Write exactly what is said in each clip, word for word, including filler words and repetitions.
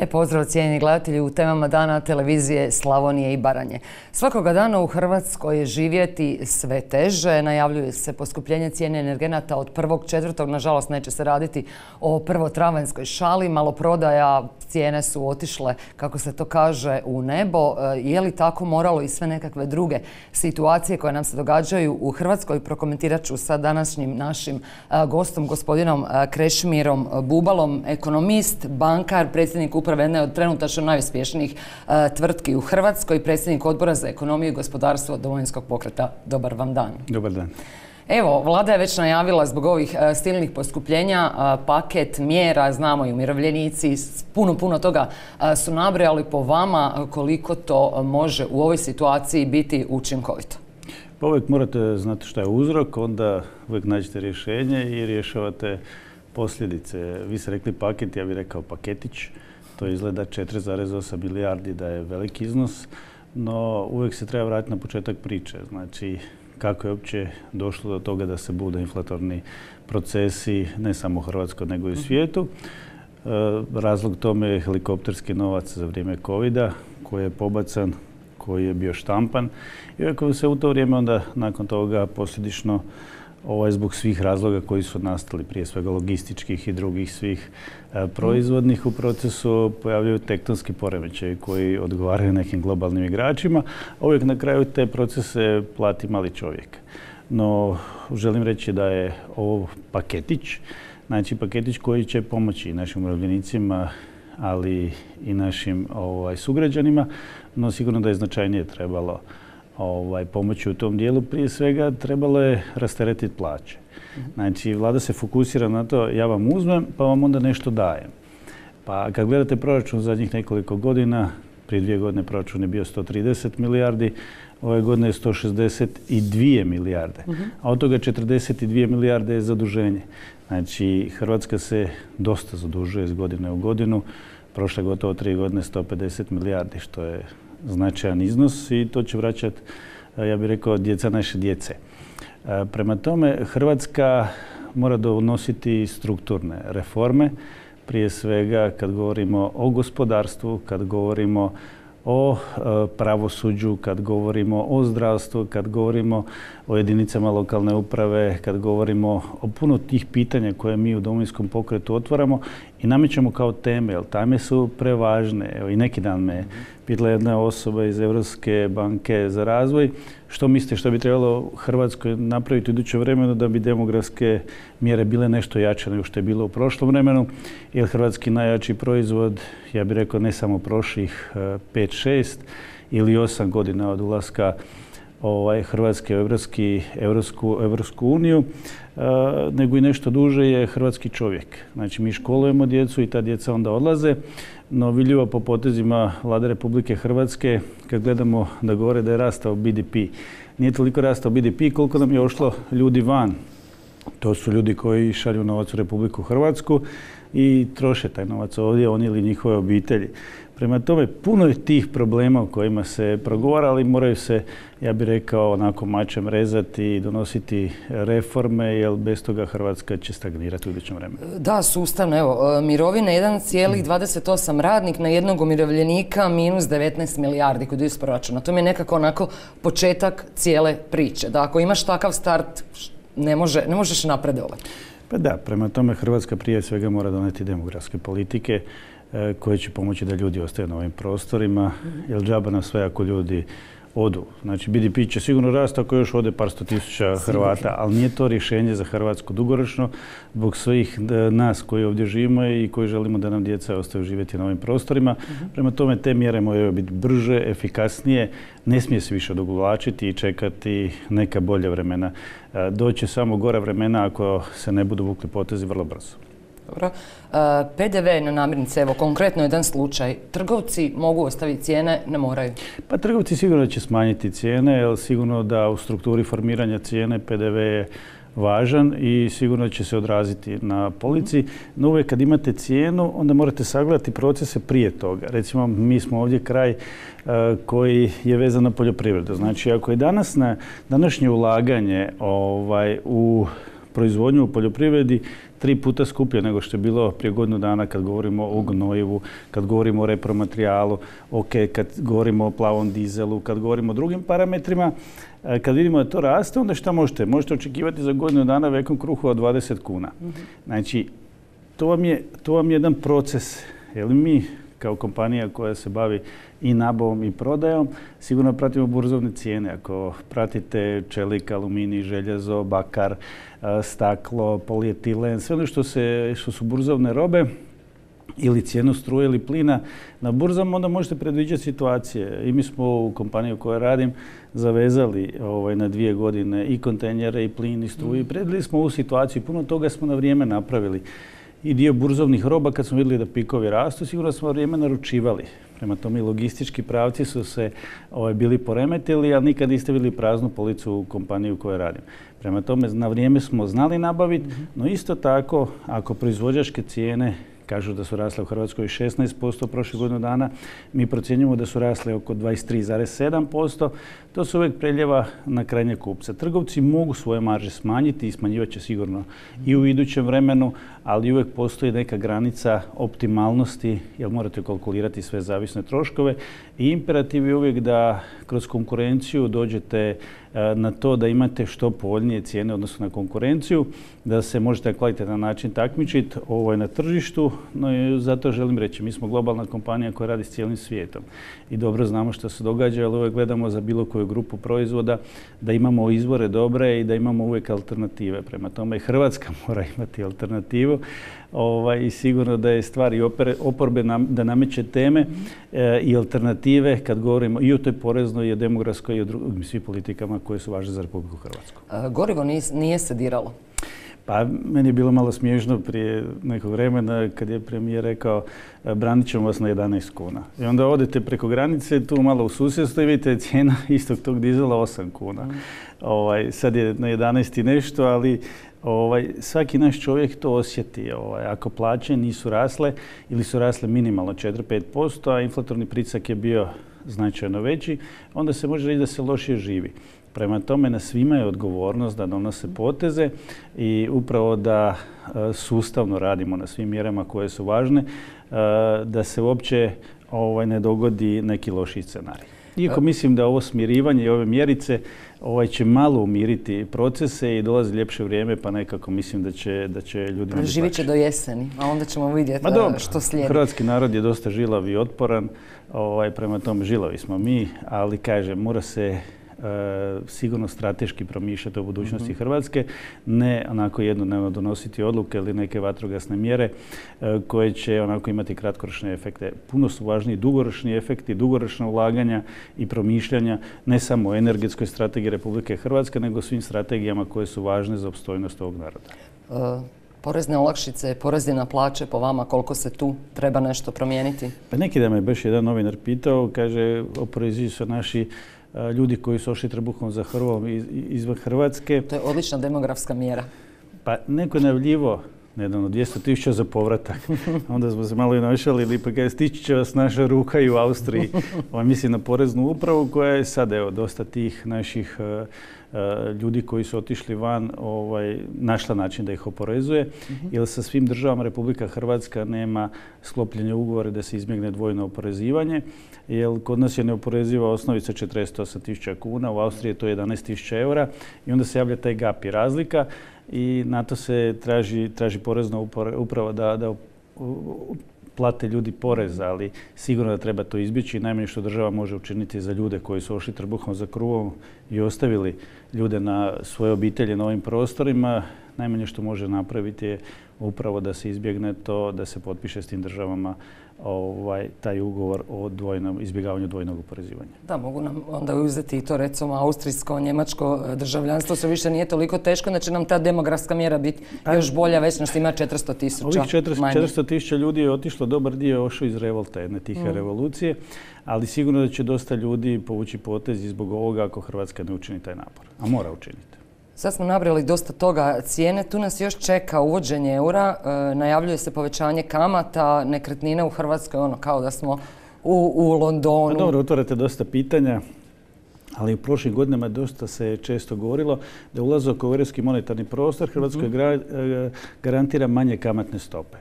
Lijep pozdrav cijenjeni gledatelji u temama dana televizije Slavonije i Baranje. Svakoga dana u Hrvatskoj je živjeti sve teže. Najavljuje se poskupljenje cijene energenata od prvog četvrtog. Nažalost, neće se raditi o prvotravanjskoj šali. Maloprodaja, cijene su otišle, kako se to kaže, u nebo. Je li tako moralo i sve nekakve druge situacije koje nam se događaju u Hrvatskoj? Prokomentirat ću sa današnjim našim gostom, gospodinom Krešimirom Bubalom, ekonomist, bankar, predsjednik uprave jedne od trenutačno najuspješnijih tvrtki u Hrvatskoj, predsjednik Odbora za ekonomiju i gospodarstvo Domovinskog pokreta. Dobar vam dan. Dobar dan. Evo, vlada je već najavila zbog ovih silnih poskupljenja paket mjera, znamo i umirovljenici, puno, puno toga su nabrojali. Po vama, koliko to može u ovoj situaciji biti učinkovito? Pa uvijek morate znati šta je uzrok, onda uvijek nađete rješenje i rješavate posljedice. Vi ste rekli paket, ja bih rekao paketić. To izgleda četiri zarez osam milijardi da je veliki iznos, no uvijek se treba vratiti na početak priče. Znači, kako je uopće došlo do toga da se bude inflatorni procesi, ne samo u Hrvatskoj, nego i u svijetu. E, razlog tome je helikopterski novac za vrijeme covida, koji je pobacan, koji je bio štampan. I ako se u to vrijeme onda nakon toga posljedično ovaj, zbog svih razloga koji su nastali, prije svega logističkih i drugih svih e, proizvodnih u procesu, pojavljaju tektonski poremećaji koji odgovaraju nekim globalnim igračima, a uvijek na kraju te procese plati mali čovjek. No, želim reći da je ovo paketić, znači paketić koji će pomoći našim umirovljenicima, ali i našim ovaj, sugrađanima, no sigurno da je značajnije trebalo Ovaj, pomoći u tom dijelu. Prije svega trebalo je rasteretiti plaće. Znači, vlada se fokusira na to, ja vam uzmem pa vam onda nešto dajem. Pa kad gledate proračun zadnjih nekoliko godina, prije dvije godine proračun je bio sto trideset milijardi, ove godine je sto šezdeset dvije milijarde, uh-huh. a od toga četrdeset dvije milijarde je zaduženje. Znači, Hrvatska se dosta zadužuje iz godine u godinu. Prošle gotovo tri godine sto pedeset milijardi, što je značajan iznos i to će vraćati, ja bih rekao, djeca naše djece. Prema tome, Hrvatska mora donositi strukturne reforme, prije svega kad govorimo o gospodarstvu, kad govorimo o pravosuđu, kad govorimo o zdravstvu, kad govorimo o jedinicama lokalne uprave, kad govorimo o puno tih pitanja koje mi u Domovinskom pokretu otvaramo i namećemo kao teme, jer teme su prevažne. Evo, i neki dan me pitala jedna osoba iz Europske banke za razvoj što mislite što bi trebalo Hrvatskoj napraviti u idućem vremenu da bi demografske mjere bile nešto jače nego što je bilo u prošlom vremenu, jer hrvatski najjači proizvod, ja bih rekao ne samo prošlih pet šest ili osam godina od ulaska ovaj, Hrvatske u Evropski, Evropsku, Evropsku uniju, uh, nego i nešto duže je hrvatski čovjek. Znači, mi školujemo djecu i ta djeca onda odlaze, no vidljivo po potezima Vlade Republike Hrvatske, kad gledamo da govore da je rastao B D P. Nije toliko rastao B D P koliko nam je ošlo ljudi van. To su ljudi koji šalju novac u Republiku Hrvatsku i troše taj novac ovdje, oni ili njihove obitelji. Prema tome, puno je tih problema o kojima se progovara, ali moraju se, ja bih rekao, onako mačem rezati i donositi reforme, jer bez toga Hrvatska će stagnirati u idućem vremenu. Da, sustavno. Evo, mirovine jedan zarez dvadeset osam radnik na jednog umirovljenika minus devetnaest milijardi kod iz proračuna. To mi je nekako onako početak cijele priče. Da ako imaš takav start, ne, može, ne možeš napredovati. Pa da, prema tome Hrvatska prije svega mora doneti demografske politike koje će pomoći da ljudi ostaju na ovim prostorima, jer džaba nam sve ako ljudi odu. Znači, B D P će sigurno rasti ako još ode par sto tisuća Hrvata, ali nije to rješenje za Hrvatsku dugoročno zbog svih nas koji ovdje živimo i koji želimo da nam djeca ostaju živjeti na ovim prostorima. Prema tome, te mjere moraju biti brže, efikasnije, ne smije se više odugovlačiti i čekati neka bolja vremena. Doće samo gora vremena ako se ne budu vukli potezi vrlo brzo. Dobro. P D V na namirnice, evo konkretno jedan slučaj. Trgovci mogu ostaviti cijene, ne moraju? Pa trgovci sigurno će smanjiti cijene, jer sigurno da u strukturi formiranja cijene P D V je važan i sigurno će se odraziti na polici. No uvijek kad imate cijenu, onda morate sagledati procese prije toga. Recimo, mi smo ovdje kraj uh, koji je vezan na poljoprivredu. Znači, ako je danas na današnje ulaganje ovaj, u proizvodnju u poljoprivredi tri puta skuplje nego što je bilo prije godinu dana kad govorimo o gnojivu, kad govorimo o repromaterijalu, ok, kad govorimo o plavom dizelu, kad govorimo o drugim parametrima. Kad vidimo da to raste, onda šta možete? Možete očekivati za godinu dana vekom kruhu od dvadeset kuna. Znači, to vam je, to vam je jedan proces. Jer mi kao kompanija koja se bavi i nabavom i prodajom, sigurno pratimo burzovne cijene. Ako pratite čelik, aluminij, željezo, bakar, staklo, polietilen, sve ono što, se, što su burzovne robe, ili cijenu struje ili plina na burzama, onda možete predviđati situacije. I mi smo u kompaniji u kojoj radim zavezali ovaj, na dvije godine i kontejnere, i plin, i struju. I predvidjeli smo ovu situaciju i puno toga smo na vrijeme napravili. I dio burzovnih roba, kad smo vidjeli da pikovi rastu, sigurno smo vrijeme naručivali. Prema tome i logistički pravci su se ovaj, bili poremetili, ali nikad niste vidjeli praznu policu u kompaniji u kojoj radim. Prema tome na vrijeme smo znali nabaviti, no isto tako ako proizvođačke cijene kažu da su rasle u Hrvatskoj šesnaest posto prošle godinu dana, mi procjenjujemo da su rasle oko dvadeset tri zarez sedam posto. To se uvijek preljeva na krajnje kupce. Trgovci mogu svoje marže smanjiti i smanjivat će sigurno i u idućem vremenu, ali uvijek postoji neka granica optimalnosti, jer morate kalkulirati sve zavisne troškove. I imperativ je uvijek da kroz konkurenciju dođete na to da imate što povoljnije cijene odnosno na konkurenciju, da se možete na kvalitetan način takmičiti ovaj, na tržištu. No i zato želim reći, mi smo globalna kompanija koja radi s cijelim svijetom i dobro znamo što se događa, ali uvijek gledamo za bilo koju grupu proizvoda da imamo izvore dobre i da imamo uvijek alternative. Prema tome Hrvatska mora imati alternativu ovaj, i sigurno da je stvar i oporbe nam, da nameće teme e, i alternative kad govorimo i o toj poreznoj i o demografskoj i o drugim svim politikama koje su važne za Republiku Hrvatsku. A, gorivo nije, nije se diralo? Pa meni je bilo malo smiješno prije nekog vremena kad je premijer rekao branit ćemo vas na jedanaest kuna. I onda odete preko granice, tu malo u susjedstvo i vidite cijena istog tog dizela osam kuna. Mm. Ovaj, sad je na jedanaest i nešto, ali ovaj, svaki naš čovjek to osjeti. Ovaj, ako plaće nisu rasle ili su rasle minimalno četiri do pet posto, a inflatorni pritisak je bio značajno veći, onda se može reći da se lošije živi. Prema tome na svima je odgovornost da donose poteze i upravo da sustavno radimo na svim mjerama koje su važne, da se uopće ovaj, ne dogodi neki loši scenarij. Iako mislim da ovo smirivanje i ove mjerice ovaj, će malo umiriti procese i dolazi ljepše vrijeme, pa nekako mislim da će, da će ljudi... Živit će do jeseni, a onda ćemo vidjeti što slijedi. Hrvatski narod je dosta žilav i otporan, ovaj, prema tome žilavi smo mi, ali kažem, mora se E, sigurno strateški promišljati o budućnosti mm-hmm. Hrvatske, ne onako jednodnevno donositi odluke ili neke vatrogasne mjere e, koje će onako imati kratkoročne efekte. Puno su važniji dugoročni efekti, dugoročna ulaganja i promišljanja ne samo o energetskoj strategiji Republike Hrvatske, nego svim strategijama koje su važne za opstojnost ovog naroda. Uh. Porezne olakšice, porezi na plaće, po vama koliko se tu treba nešto promijeniti? Pa neki dan me baš jedan novinar pitao, kaže oporezuju su naši ljudi koji su ošli trbuhom za hrvom iz, izvan Hrvatske. To je odlična demografska mjera. Pa neko je najavljivo nedavno dvjesto tisuća za povratak. Onda smo se malo i našalili, pa kaže stići će vas naša ruka i u Austriji. Ovo mislim na poreznu upravu koja je sad, evo, dosta tih naših uh, uh, ljudi koji su otišli van ovaj, našla način da ih oporezuje. Mm-hmm. Jer sa svim državama Republika Hrvatska nema sklopljenje ugovore da se izbjegne dvojno oporezivanje. Jer kod nas je neoporeziva osnovica četrdeset osam tisuća kuna, u Austriji je to jedanaest tisuća eura i onda se javlja taj gap i razlika. I na to se traži, traži porezna uprava da, da plate ljudi porez, ali sigurno da treba to izbjeći. Najmanje što država može učiniti za ljude koji su ošli trbuhom za kruvom i ostavili ljude na svoje obitelji na ovim prostorima, najmanje što može napraviti je upravo da se izbjegne to, da se potpiše s tim državama ovaj, taj ugovor o dvojnom, izbjegavanju dvojnog oporezivanja. Da, mogu nam onda uzeti i to recimo austrijsko, njemačko državljanstvo, se više nije toliko teško, da će nam ta demografska mjera biti još bolja, već nas ima četiristo tisuća Ovih četiristo tisuća ljudi je otišlo, dobar dio je ošao iz revolta, jedne tihe mm. revolucije, ali sigurno da će dosta ljudi povući potez i zbog ovoga ako Hrvatska ne učini taj napor, a mora učiniti. Sad smo nabrali dosta toga cijene, tu nas još čeka uvođenje eura, e, najavljuje se povećanje kamata, nekretnine u Hrvatskoj, ono kao da smo u, u Londonu. Pa dobro, otvarate dosta pitanja. ali u prošlim godinama dosta se često govorilo da ulazak u europski monetarni prostor Hrvatskoj gra- garantira manje kamatne stope.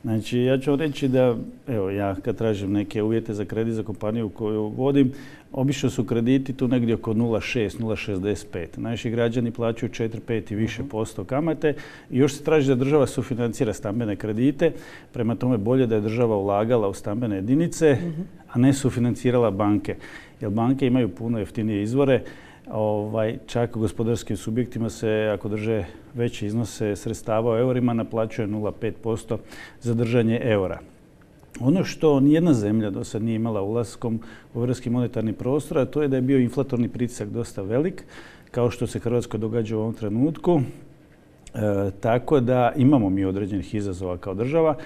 Znači, ja ću reći da, evo, ja kad tražim neke uvjete za kredit za kompaniju koju vodim, obično su krediti tu negdje oko nula zarez šest, nula zarez šezdeset pet. Naši građani plaćaju četiri, pet i više posto kamate i još se traži da država sufinancira stambene kredite. Prema tome bolje da je država ulagala u stambene jedinice, a ne sufinancirala banke. Jer banke imaju puno jeftinije izvore. Ovaj, čak u gospodarskim subjektima se, ako drže veće iznose sredstava u eurima, naplaćuje nula zarez pet posto za držanje eura. Ono što nijedna zemlja do sad nije imala ulaskom u europski monetarni prostor, a to je da je bio inflatorni pritisak dosta velik, kao što se Hrvatskoj događa u ovom trenutku. E, tako da imamo mi određenih izazova kao država.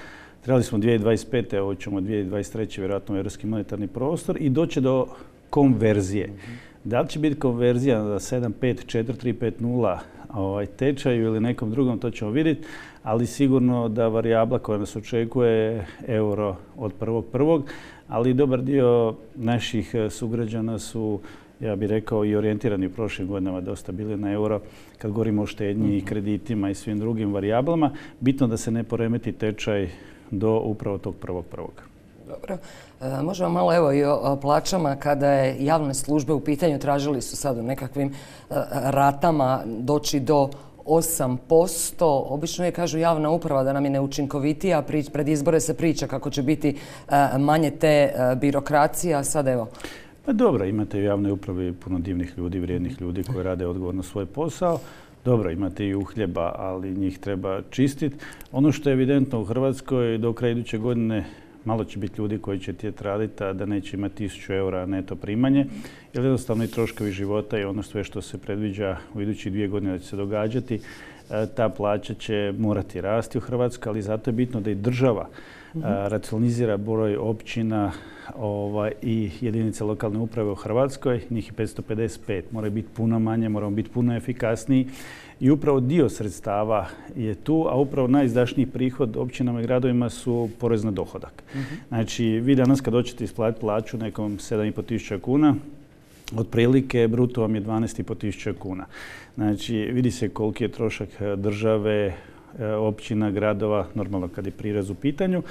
Trebali smo dvije tisuće dvadeset pete. ovo ćemo dvije tisuće dvadeset treće. vjerojatno u europski monetarni prostor i doći do konverzije. Da li će biti konverzija na sedam pet, četiri tri pet nula ovaj, tečaju ili nekom drugom, to ćemo vidjeti, ali sigurno da varijabla koja nas očekuje je euro od prvog prvog, ali dobar dio naših sugrađana su, ja bih rekao, i orijentirani u prošlim godinama dosta bili na euro. Kad govorimo o štednji i kreditima i svim drugim varijablama, bitno da se ne poremeti tečaj do upravo tog prvog prvog. Dobro. E, možemo malo evo i o, o plaćama. Kada je javne službe u pitanju, tražili su sad u nekakvim e, ratama doći do osam posto. Obično je, kažu, javna uprava da nam je neučinkovitija. Pred izbore se priča kako će biti e, manje te e, birokracije, a sad evo. Pa dobro, imate u javnoj upravi puno divnih ljudi, vrijednih ljudi koji rade odgovorno svoj posao. Dobro, imate i uhljeba, ali njih treba čistiti. Ono što je evidentno u Hrvatskoj, do kraja iduće godine malo će biti ljudi koji će tijeti raditi, a da neće imati tisuću eura neto primanje, jer jednostavno i troškovi života i ono sve što se predviđa u idućih dvije godine da će se događati, ta plaća će morati rasti u Hrvatskoj, ali zato je bitno da i država uh, racionalizira broj općina ovaj, i jedinica lokalne uprave u Hrvatskoj, njih je petsto pedeset pet, mora biti puno manje, moramo biti puno efikasniji. I upravo dio sredstava je tu, a upravo najizdašniji prihod općinama i gradovima su porez na dohodak. Uh-huh. Znači, vi danas kad hoćete isplatiti plaću nekom sedam i pol tisuća kuna, otprilike bruto vam je dvanaest i pol tisuća kuna. Znači, vidi se koliki je trošak države, općina, gradova, normalno kad je prirez u pitanju.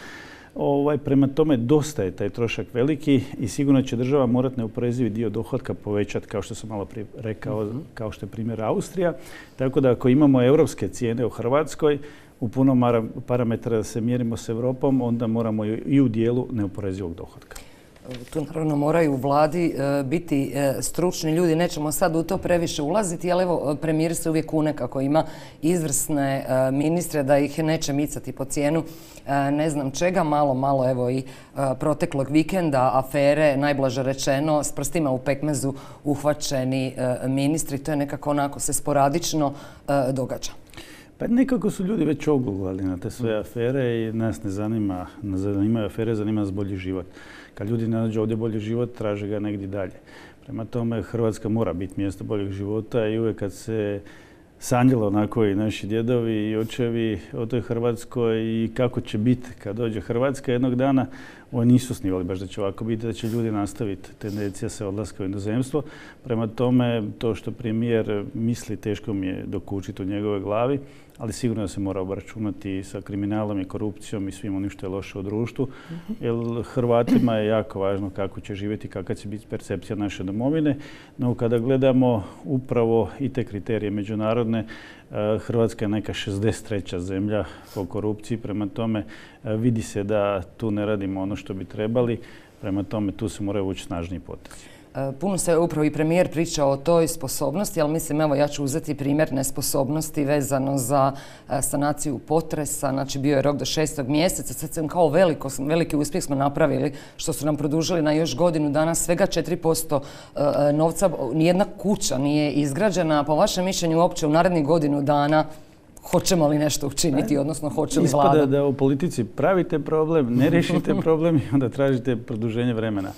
Ovaj, prema tome, dosta je taj trošak veliki i sigurno će država morati neoporezivi dio dohotka povećati, kao što sam malo prije rekao, uh-huh. kao što je primjer Austrija. Tako da ako imamo europske cijene u Hrvatskoj, u puno parametara da se mjerimo s Europom, onda moramo i u dijelu neoporezivog dohotka. Tu naravno moraju u vladi e, biti e, stručni ljudi, nećemo sad u to previše ulaziti, ali evo premijer se uvijek kune kako ima izvrsne e, ministre da ih neće micati po cijenu e, ne znam čega, malo, malo evo i e, proteklog vikenda, afere, najblaže rečeno, s prstima u pekmezu uhvaćeni e, ministri, to je nekako onako se sporadično e, događa. Pa nekako su ljudi već oguglali na te sve afere i nas ne zanima, ne zanimaju afere, zanima nas bolji život. Kad ljudi ne nađu ovdje bolji život, traže ga negdje dalje. Prema tome, Hrvatska mora biti mjesto boljeg života i uvijek kad se sanjalo onako i naši djedovi i očevi o toj Hrvatskoj i kako će biti kad dođe Hrvatska jednog dana, oni nisu snivali baš da će ovako biti, da će ljudi nastaviti tendencija se odlaska u inozemstvo. Prema tome, to što premijer misli, teško mi je dokučiti u njegove glavi, ali sigurno da se mora obračunati sa kriminalom i korupcijom i svim onim što je loše u društvu. Jer Hrvatima je jako važno kako će živjeti, kakva će biti percepcija naše domovine. No kada gledamo upravo i te kriterije međunarodne, Hrvatska je neka šezdeset treća zemlja po korupciji. Prema tome vidi se da tu ne radimo ono što bi trebali. Prema tome tu se moraju vući snažniji potezi. Puno se upravo i premijer pričao o toj sposobnosti, ali mislim, evo ja ću uzeti primjer nesposobnosti vezano za sanaciju potresa. Znači bio je rok do šestog mjeseca, sad sam kao veliko, veliki uspjeh smo napravili što su nam produžili na još godinu dana, svega četiri posto novca, nijedna kuća nije izgrađena. Po vašem mišljenju uopće u narednih godinu dana hoćemo li nešto učiniti, odnosno hoće li vlada? Ispada da u politici pravite problem, ne riješite problem i onda tražite produženje vremena.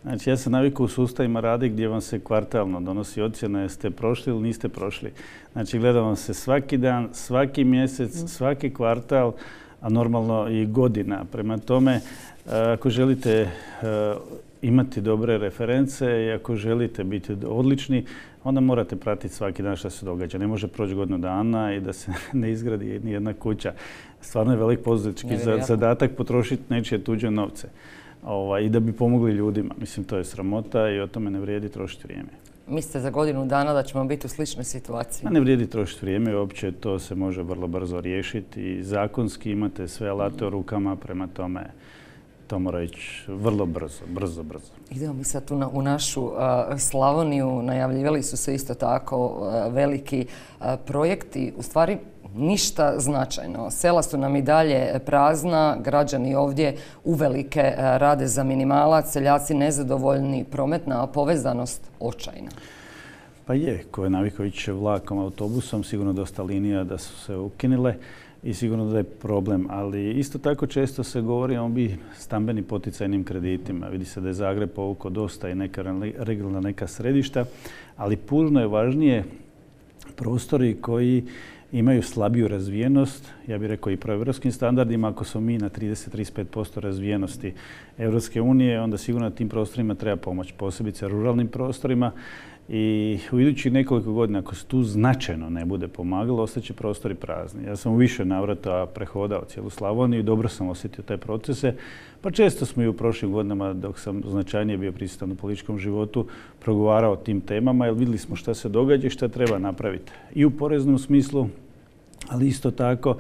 Znači, ja sam navikao u sustavima radi gdje vam se kvartalno donosi ocjena jeste prošli ili niste prošli. Znači, gleda vam se svaki dan, svaki mjesec, svaki kvartal, a normalno i godina. Prema tome, ako želite imati dobre reference i ako želite biti odlični, onda morate pratiti svaki dan što se događa. Ne može proći godinu dana i da se ne izgradi ni jedna kuća. Stvarno je velik poduzetnički zadatak potrošiti nečije tuđe novce. Ovaj, i da bi pomogli ljudima. Mislim, to je sramota i o tome ne vrijedi trošiti vrijeme. Mislite za godinu dana da ćemo biti u sličnoj situaciji? A ne vrijedi trošiti vrijeme, uopće to se može vrlo brzo riješiti i zakonski imate sve alate u rukama, prema tome to mora ići vrlo brzo, brzo, brzo. Idemo mi sad tu na, u našu uh, Slavoniju, najavljivali su se isto tako uh, veliki uh, projekti, u stvari ništa značajno. Sela su nam i dalje prazna, građani ovdje uvelike uh, rade za minimalac, seljaci nezadovoljni, prometna povezanost očajna. Pa je, ko je navikao ići vlakom, autobusom, sigurno dosta linija da su se ukinile i sigurno da je problem, ali isto tako često se govori o bi stambeni poticajnim kreditima. Vidi se da je Zagreb povukao dosta i neka regionalna neka središta, ali puno je važnije prostori koji imaju slabiju razvijenost, ja bih rekao i po europskim standardima. Ako smo mi na trideset do trideset pet posto razvijenosti Europske unije, onda sigurno na tim prostorima treba pomoć, posebice ruralnim prostorima. I u idućih nekoliko godina, ako se tu značajno ne bude pomagalo, ostaće prostori prazni. Ja sam u više navrata prehodao cijelu Slavoniju i dobro sam osjetio te procese. Pa često smo i u prošlim godinama, dok sam značajnije bio prisutan u političkom životu, progovarao o tim temama, jer vidjeli smo šta se događa i šta treba napraviti. I u poreznom smislu, ali isto tako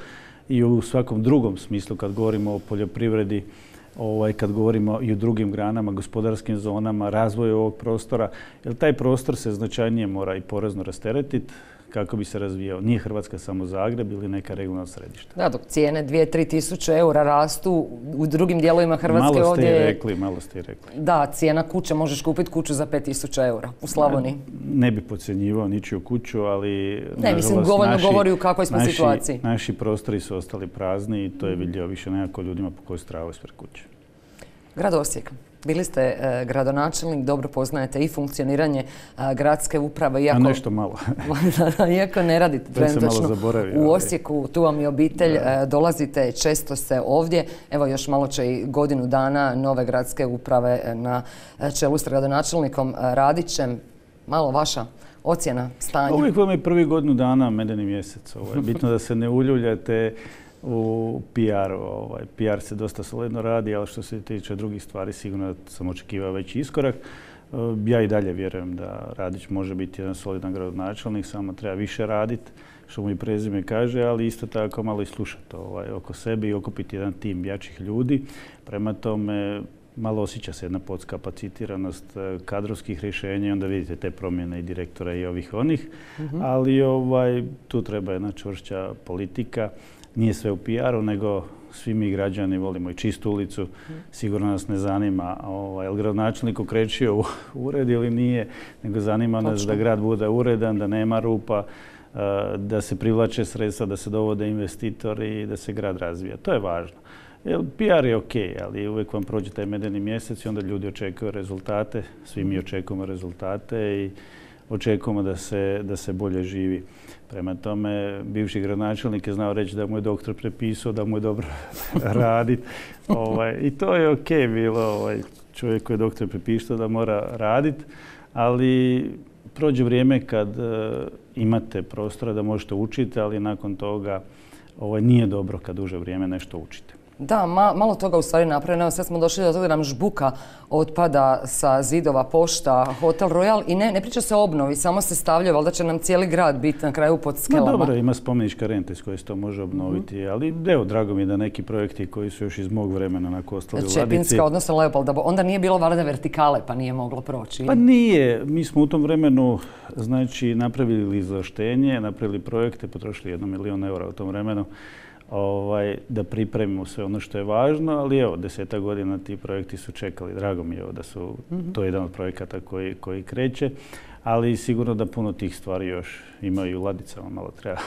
i u svakom drugom smislu kad govorimo o poljoprivredi, Ovaj, kad govorimo i o drugim granama, gospodarskim zonama, razvoju ovog prostora, jer taj prostor se značajnije mora i porezno rasteretiti kako bi se razvijao. Nije Hrvatska samo Zagreb ili neka regionalna središta. Da, dok cijene dvije do tri tisuće eura rastu u drugim dijelovima Hrvatske malo ste ovdje... Malo ste i rekli, malo ste i rekli. Da, cijena kuće, možeš kupiti kuću za pet tisuća eura u Slavoniji. Ne, ne bi podcjenjivao ničiju kuću, ali... Ne, mislim, govorno govori u kakvoj smo naši, situaciji. Naši prostori su ostali prazni i to je vidljivo više nekako ljudima po kojoj stravaju ispred kuće. Grad Osijek. Bili ste e, gradonačelnik, dobro poznajete i funkcioniranje e, gradske uprave. Iako, A nešto malo. iako ne radite trenutačno u Osijeku, tu vam je obitelj, e, dolazite, često ste ovdje. Evo još malo će i godinu dana nove gradske uprave na čelu s gradonačelnikom Radićem. Malo vaša ocjena stanja? Uvijek vam je prvi godinu dana medeni mjesec. Ovo je bitno da se ne uljuljate u P R-u. Ovaj, P R se dosta solidno radi, ali što se tiče drugih stvari, sigurno sam očekivao veći iskorak. Ja i dalje vjerujem da Radić može biti jedan solidan gradonačelnik, samo treba više raditi, što mu i prezime kaže, ali isto tako malo i slušati ovaj, oko sebe i okupiti jedan tim jačih ljudi. Prema tome, malo osjeća se jedna podskapacitiranost kadrovskih rješenja i onda vidite te promjene i direktora i ovih onih, mm-hmm. ali ovaj, tu treba jedna čvršća politika. Nije sve u P R-u, nego svi mi građani volimo i čistu ulicu. Sigurno nas ne zanima ovaj, je li gradonačelnik okrećio u ured ili nije, nego zanima nas da grad bude uredan, da nema rupa, da se privlače sredstva, da se dovode investitori i da se grad razvija. To je važno. Jer P R je ok, ali uvijek vam prođe taj medeni mjesec i onda ljudi očekuju rezultate, svi mi očekujemo rezultate i očekujemo da se, da se bolje živi. Prema tome, bivši gradonačelnik je znao reći da mu je doktor prepisao, da mu je dobro raditi. Ovaj, I to je ok bilo, ovaj, čovjek koji je doktor prepisao da mora raditi, ali prođe vrijeme kad uh, imate prostora da možete učiti, ali nakon toga ovaj, nije dobro kad duže vrijeme nešto učite. Da, ma, malo toga u stvari napravljeno. Sad smo došli do toga da nam žbuka otpada sa zidova pošta, Hotel Royal i ne, ne priča se o obnovi, samo se stavljaju, valjda će nam cijeli grad biti na kraju pod skelama. No dobro, ima spomenička renta s koje se to može obnoviti, mm-hmm. ali evo, drago mi je da neki projekti koji su još iz mog vremena onako ostali u ladici. Čepinska, odnosno Leopolda, onda nije bilo valjda vertikale pa nije moglo proći. Pa nije, mi smo u tom vremenu znači napravili izvlaštenje, napravili projekte, potrošili jedno milion eura u tom vremenu. Ovaj, da pripremimo sve ono što je važno, ali evo, deseta godina ti projekti su čekali. Drago mi je da su, mm-hmm. to je jedan od projekata koji, koji kreće, ali sigurno da puno tih stvari još imaju u ladicama, malo treba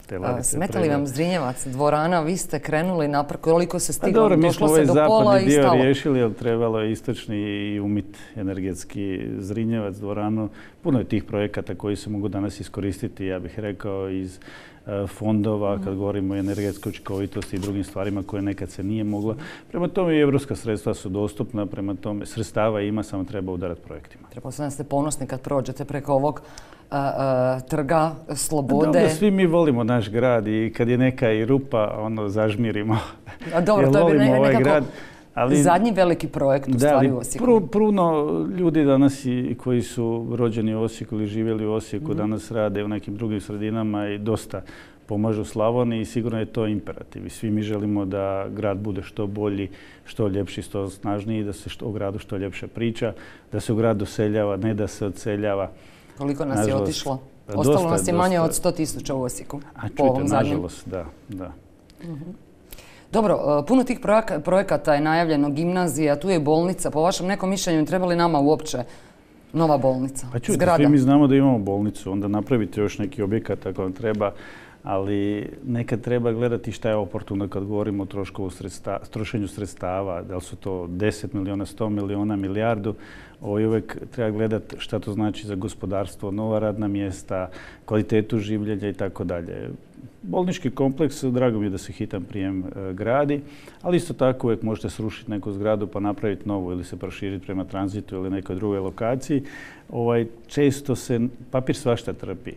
te ladice. Smeta li vam Zrinjevac, dvorana, vi ste krenuli naprijed, koliko se stiglo, dobro, došlo se do pola i stalo? Mi smo ovaj zapadni dio riješili, ali trebalo je istočni i umit energetski Zrinjevac, dvoranu. Puno je tih projekata koji se mogu danas iskoristiti, ja bih rekao, iz fondova, kad govorimo o energetskoj učinkovitosti i drugim stvarima koje nekad se nije moglo. Prema tome i evropska sredstva su dostupna, prema tome sredstava ima, samo treba udarati projektima. Pretpostavljam da ste ponosni kad prođete preko ovog a, a, trga slobode. Dobro, svi mi volimo naš grad i kad je neka i rupa, ono, zažmirimo. A dobro, to je ne, ovaj nekako grad. Ali, zadnji veliki projekt u stvari u Osijeku. Pru, puno ljudi danas i, koji su rođeni u Osijeku ili živjeli u Osijeku, mm-hmm. danas rade u nekim drugim sredinama i dosta pomažu Slavoniji i sigurno je to imperativ. I svi mi želimo da grad bude što bolji, što ljepši, što snažniji, da se što, o gradu što ljepše priča, da se u grad doseljava, ne da se odseljava. Koliko nas nažalost, je otišlo? Dosta, Ostalo nas je manje dosta. od sto tisuća u Osijeku. A čujte, nažalost, da, da. Mm-hmm. Dobro, puno tih projekata je najavljeno, gimnazija, tu je bolnica. Po vašem nekom mišljenju treba li nama uopće nova bolnica? Pa čujte, svi mi znamo da imamo bolnicu, onda napravite još neki objekat ako vam treba, ali nekad treba gledati šta je oportuno kad govorimo o sredsta, trošenju sredstava, da li su to deset miliona, sto miliona, milijardu. Ovo uvijek treba gledati šta to znači za gospodarstvo, nova radna mjesta, kvalitetu življenja i tako dalje. Bolnički kompleks, drago mi je da se hitan prijem e, gradi, ali isto tako uvijek možete srušiti neku zgradu pa napraviti novu ili se proširiti prema tranzitu ili nekoj drugoj lokaciji. Ovaj, često se, papir svašta trpi.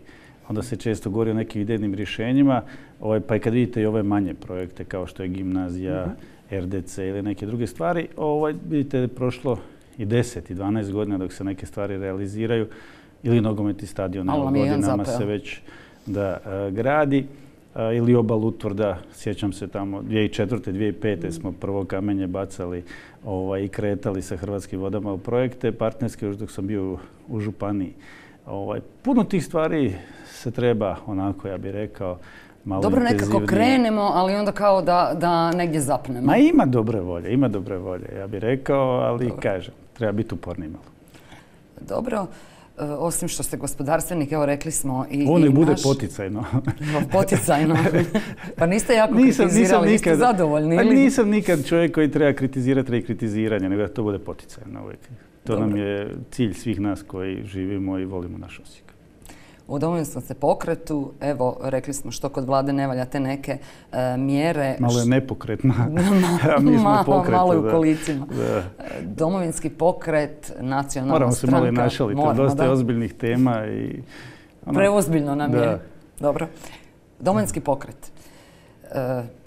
Onda se često govori o nekim idejnim rješenjima, ovaj, pa i kad vidite i ove manje projekte kao što je gimnazija, mm-hmm. er de ce ili neke druge stvari, ovaj, vidite da je prošlo i deset i dvanaest godina dok se neke stvari realiziraju ili nogometni stadion, evo godinama se već da uh, gradi. Uh, ili obal utvrda, sjećam se tamo dvije tisuće četvrte. dvije tisuće pete. Mm. smo prvo kamenje bacali ovaj, i kretali sa Hrvatskim vodama u projekte partnerske još dok sam bio u, u županiji. Ovaj, puno tih stvari se treba, onako ja bih rekao, malo dobro, intenzivnije. nekako krenemo, ali onda kao da, da negdje zapnemo. Ma ima dobre volje, ima dobre volje, ja bih rekao, ali dobro. Kažem, treba biti uporni malo. Dobro. Uh, osim što ste gospodarstvenik, evo rekli smo i Ovo ne i bude naš... poticajno. Poticajno. Pa niste jako nisam, kritizirali, nisam nikad, niste zadovoljni? Pa ili? nisam nikad čovjek koji treba kritizirati radi kritiziranja, nego da to bude poticajno uvijek. To Dobro. nam je cilj svih nas koji živimo i volimo naš Osijek. U Domovinskom se pokretu, evo, rekli smo što kod vlade ne valja te neke uh, mjere. Malo je nepokretna, a mi smo malo, pokretu. Malo u kolicima. Da. Domovinski pokret, nacionalna Moramo stranka. Moramo se malo našaliti, Moramo, dosta da. je ozbiljnih tema. I, ono, Preozbiljno nam da. je. Dobro. Domovinski pokret. Uh,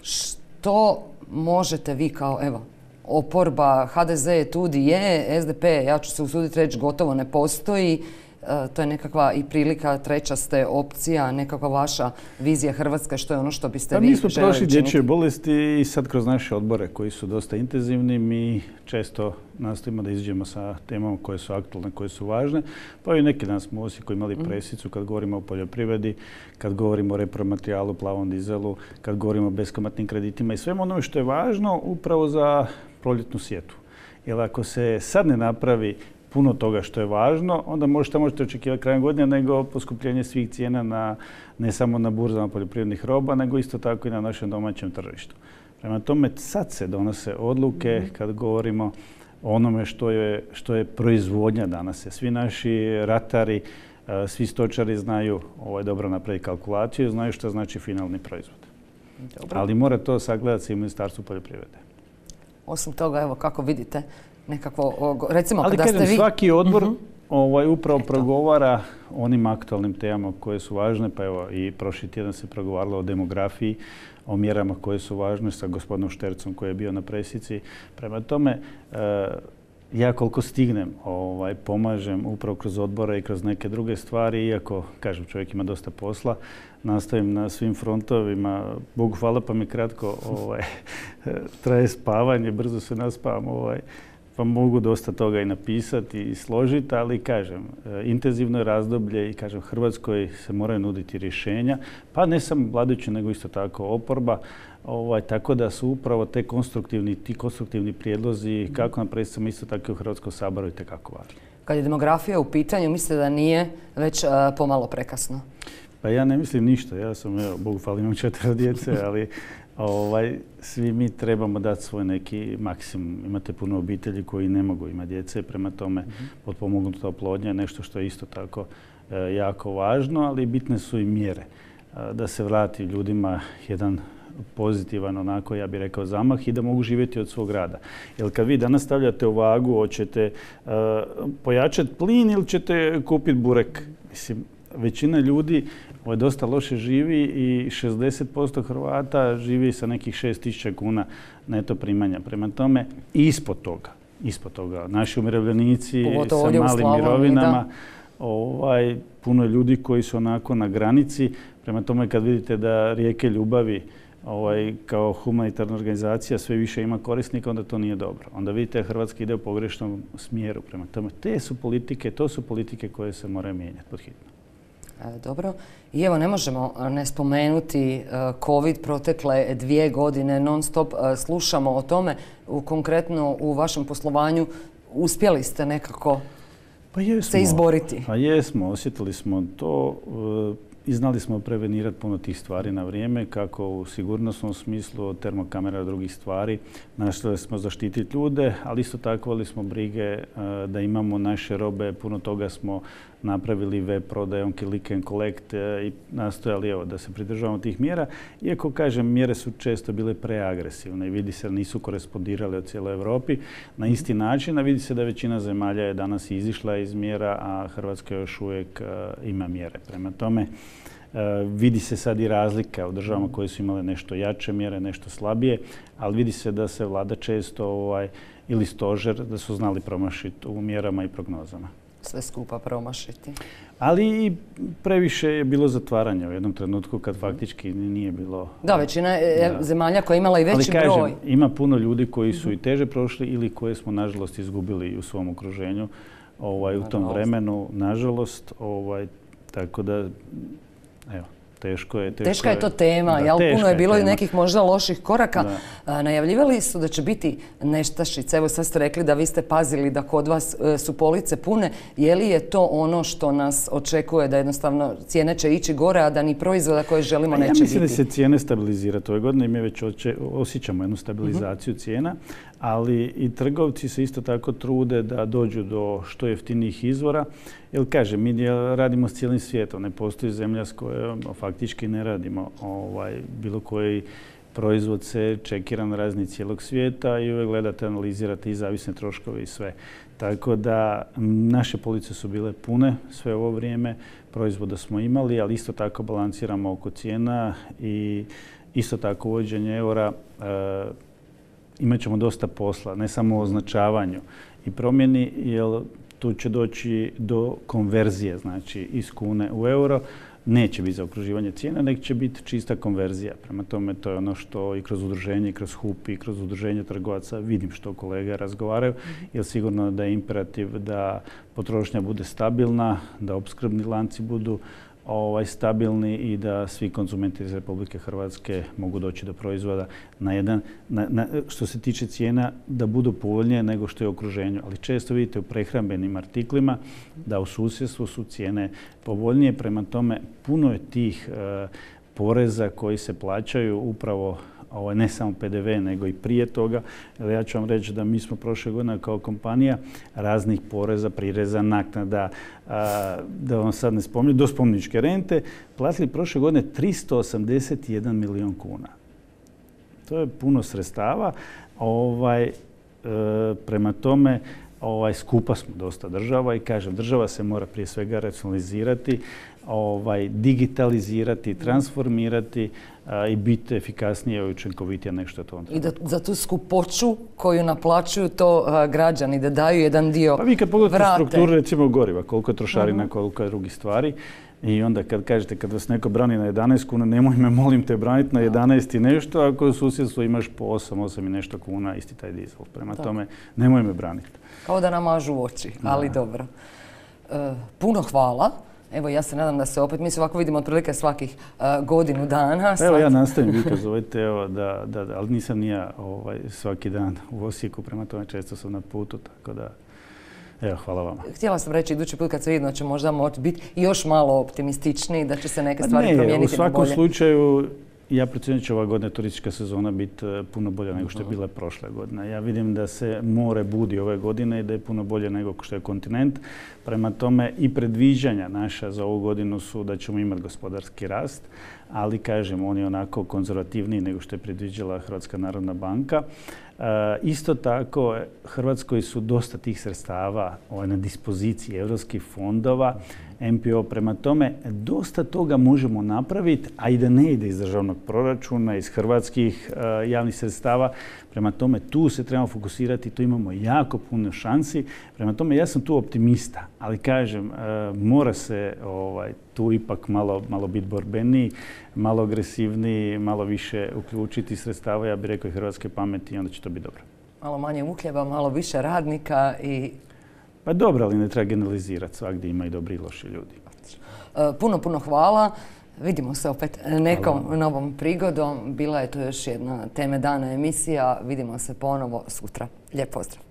što možete vi kao, evo, oporba, ha de ze je tu di je, es de pe, ja ću se usuditi reći, gotovo ne postoji. Uh, to je nekakva i prilika, treća ste opcija, nekakva vaša vizija Hrvatske, što je ono što biste pa vi željeli učiniti? Mi smo prošli dječje bolesti i sad kroz naše odbore koji su dosta intenzivni, mi često nastojimo da izađemo sa temama koje su aktualne, koje su važne. Pa i neki dan smo u Osijeku imali presicu kad govorimo o poljoprivredi, kad govorimo o repromaterijalu, plavom dizelu, kad govorimo o beskamatnim kreditima i svemu onome što je važno upravo za proljetnu sjetvu. Jer ako se sad ne napravi puno toga što je važno, onda možete, možete očekivati krajem godine nego poskupljenje svih cijena na, ne samo na burzama poljoprivrednih roba, nego isto tako i na našem domaćem tržištu. Prema tome, sad se donose odluke mm-hmm. kad govorimo o onome što je, što je proizvodnja danas. Svi naši ratari, svi stočari znaju ovaj, dobro napraviti kalkulaciju, znaju što znači finalni proizvod. Dobro. Ali mora to sagledati se i Ministarstvo poljoprivrede. Osim toga, evo kako vidite, nekakvo, recimo Ali kada kažem, ste vi... svaki odbor uh-huh. ovaj, upravo progovara onim aktualnim temama koje su važne, pa evo i prošli tjedan se progovaralo o demografiji, o mjerama koje su važne sa gospodinom Štercom koji je bio na presici. Prema tome, e, ja koliko stignem ovaj, pomažem upravo kroz odbore i kroz neke druge stvari, iako, kažem, čovjek ima dosta posla, nastavim na svim frontovima. Bogu hvala pa mi kratko ovaj, traje spavanje, brzo se naspavam, ovaj, pa mogu dosta toga i napisati i složiti, ali kažem, intenzivno je razdoblje i kažem, Hrvatskoj se moraju nuditi rješenja, pa ne samo vladajući, nego isto tako oporba. Ovaj, tako da su upravo te konstruktivni, ti konstruktivni prijedlozi kako na predstavama isto tako i u Hrvatskom saboru itekako važni. Kad je demografija u pitanju, mislite da nije već uh, pomalo prekasno? Pa ja ne mislim ništa. Ja sam, evo, Bogu hvala, imam četvero djece, ali ovaj, svi mi trebamo dati svoj neki maksimum. Imate puno obitelji koji ne mogu imati djece, prema tome mm-hmm. potpomognuta oplodnja je nešto što je isto tako e, jako važno, ali bitne su i mjere. E, da se vrati ljudima jedan pozitivan, onako, ja bih rekao, zamah i da mogu živjeti od svog rada. Jer kad vi danas stavljate u vagu, hoćete uh, pojačati plin ili ćete kupiti burek? Mislim, većina ljudi ovo dosta loše živi i šezdeset posto Hrvata živi sa nekih šest tisuća kuna neto primanja. Prema tome, ispod toga, ispod toga, naši umirovljenici sa malim mirovinama, ovaj, puno ljudi koji su onako na granici. Prema tome, kad vidite da Rijeke ljubavi ovaj, kao humanitarna organizacija sve više ima korisnika, onda to nije dobro. Onda vidite da Hrvatska ide u pogrešnom smjeru. Prema tome, te su politike, to su politike koje se moraju mijenjati pod hitno. Dobro. I evo, ne možemo ne spomenuti COVID, protekle dvije godine non stop slušamo o tome. Konkretno u vašem poslovanju uspjeli ste nekako pa jesmo, se izboriti. Pa jesmo, osjetili smo to i znali smo prevenirati puno tih stvari na vrijeme, kako u sigurnosnom smislu od termokamera i drugih stvari. Nastojali smo zaštititi ljude, ali isto tako vodili smo brige da imamo naše robe. Puno toga smo napravili web prodajom, click and collect i nastojali evo, da se pridržavamo tih mjera. Iako, kažem, mjere su često bile preagresivne i vidi se da nisu korespondirale u cijeloj Europi na isti način, a vidi se da većina zemalja je danas izišla iz mjera, a Hrvatska još uvijek ima mjere. Prema tome, vidi se sad i razlika u državama koje su imale nešto jače mjere, nešto slabije, ali vidi se da se vlada često ovaj, ili stožer da su znali promašiti u mjerama i prognozama. Sve skupa promašiti. Ali i previše je bilo zatvaranja u jednom trenutku kad faktički nije bilo... Da, većina je da. zemalja koja je imala i veći ali, kažem, broj. Ima puno ljudi koji su i teže prošli ili koje smo nažalost izgubili u svom okruženju ovaj, u tom vremenu, nažalost. Ovaj, tako da, evo, Teško je, teško Teška je to tema, jel? Puno je bilo i nekih možda loših koraka. Da. Najavljivali su da će biti nestašice. Evo sad ste rekli da vi ste pazili da kod vas su police pune. Je li je to ono što nas očekuje da jednostavno cijene će ići gore, a da ni proizvoda koje želimo neće biti? Ja mislim da se cijene stabilizirati ove godine i mi već osjećamo jednu stabilizaciju uh-huh. cijena, ali i trgovci se isto tako trude da dođu do što jeftinijih izvora. Jer kažem, mi radimo s cijelim svijetom, ne postoji zemlja s kojom faktički ne radimo. Ovaj, bilo koji proizvod se čekira na razni cijelog svijeta i uvijek gledate, analizirate i zavisne troškove i sve. Tako da naše police su bile pune sve ovo vrijeme, proizvoda smo imali, ali isto tako balansiramo oko cijena i isto tako uvođenje eura. E, imat ćemo dosta posla, ne samo o označavanju i promjeni, jer tu će doći do konverzije, znači iz kune u euro. Neće biti zaokruživanje cijena, nego će biti čista konverzija. Prema tome, to je ono što i kroz udruženje, i kroz H U P, i kroz udruženje trgovaca vidim što kolege razgovaraju, jer sigurno da je imperativ da potrošnja bude stabilna, da opskrbni lanci budu ovaj, stabilni i da svi konzumenti iz Republike Hrvatske mogu doći do proizvoda na jedan, na, na, što se tiče cijena, da budu povoljnije nego što je u okruženju. Ali često vidite u prehrambenim artiklima da u susjedstvu su cijene povoljnije. Prema tome, puno je tih e, poreza koji se plaćaju upravo Ovo, ne samo P D V, nego i prije toga. Ja ću vam reći da mi smo prošle godine kao kompanija raznih poreza, prireza, naknada, a, da vam sad ne spominjem, do spomeničke rente, platili prošle godine tristo osamdeset jedan milijun kuna. To je puno sredstava. Ovaj, e, prema tome, ovaj, skupa smo dosta država i kažem, država se mora prije svega racionalizirati, ovaj, digitalizirati, transformirati a, i biti efikasnije i učinkovitija nego što je to on treba. I da za tu skupoću koju naplaćuju to a, građani, da daju jedan dio vrate. Pa vi kad pogledate strukturu recimo goriva, koliko je trošarina, uh-huh. koliko je drugih stvari, i onda kad kažete, kad vas neko brani na jedanaest kuna, nemoj me, molim te, braniti na jedanaest i nešto, ako u susjedstvu imaš po osam, osam i nešto kuna, isti taj dizel. Prema da. tome, nemoj me braniti. Kao da namažu oči, ali da. dobro. E, puno hvala. Evo, ja se nadam da se opet, mi se ovako vidimo otprilike svakih uh, godinu dana. Evo, ja nastavim, vi kad zovete, evo, da, da, da, ali nisam ni ja ovaj, svaki dan u Osijeku, prema tome često sam na putu, tako da, evo, hvala vama. Htjela sam reći, idući put kad se vidimo, će možda moći biti još malo optimističniji, da će se neke stvari ne, promijeniti na bolje. U svakom slučaju, ja procjenjujem da će ova godina turistička sezona biti puno bolja nego što je bila prošle godine. Ja vidim da se more budi ove godine i da je puno bolje nego što je kontinent. Prema tome i predviđanja naša za ovu godinu su da ćemo imati gospodarski rast, ali kažem, on je onako konzervativniji nego što je predviđala Hrvatska narodna banka. E, isto tako, Hrvatskoj su dosta tih sredstava ovaj, na dispoziciji europskih fondova, M P O. Prema tome, dosta toga možemo napraviti, a i da ne ide iz državnog proračuna, iz hrvatskih e, javnih sredstava. Prema tome, tu se trebamo fokusirati, tu imamo jako puno šansi. Prema tome, ja sam tu optimista, ali kažem, e, mora se ovaj, tu ipak malo, malo biti borbeniji, malo agresivniji, malo više uključiti sredstava, ja bih rekao i hrvatske pameti, i onda će to biti dobro. Malo manje uhljeba, malo više radnika i... Pa dobro, ali ne treba generalizirati, svagdje ima i dobri i loši ljudi. Puno, puno hvala. Vidimo se opet nekom hvala. Novom prigodom. Bila je to još jedna Teme dana emisija. Vidimo se ponovo sutra. Lijep pozdrav.